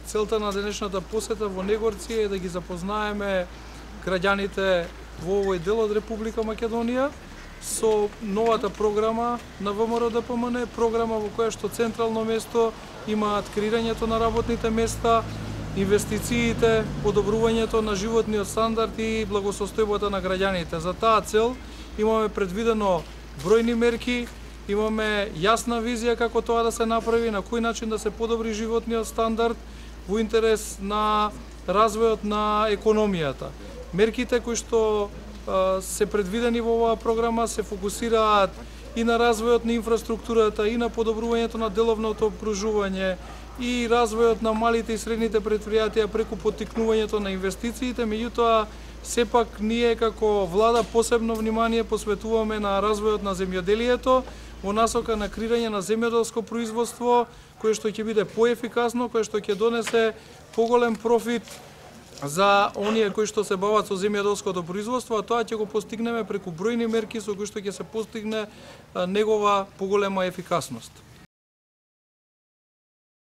целта на денешната посета во Негорци е да ги запознаеме граѓаните во овој дел од Република Македонија со новата програма на ВМРО-ДПМН, програма во која што централно место имаат креирањето на работните места, инвестициите, подобрувањето на животниот стандард и благосостојбата на граѓаните. За таа цел имаме предвидено бројни мерки, имаме јасна визија како тоа да се направи, на кој начин да се подобри животниот стандард во интерес на развојот на економијата. Мерките кои што се предвидени во оваа програма се фокусираат и на развојот на инфраструктурата, и на подобрувањето на деловното обкружување, и развојот на малите и средните претпријатија преку поттикнувањето на инвестициите. Меѓутоа, сепак ние како влада посебно внимание посветуваме на развојот на земјоделието во насока на креирање на земјоделско производство кое што ќе биде поефикасно, кое што ќе донесе поголем профит за оние кои што се бават со земјоделското производство, а тоа ќе го постигнеме преку бројни мерки со кои што ќе се постигне негова поголема ефикасност.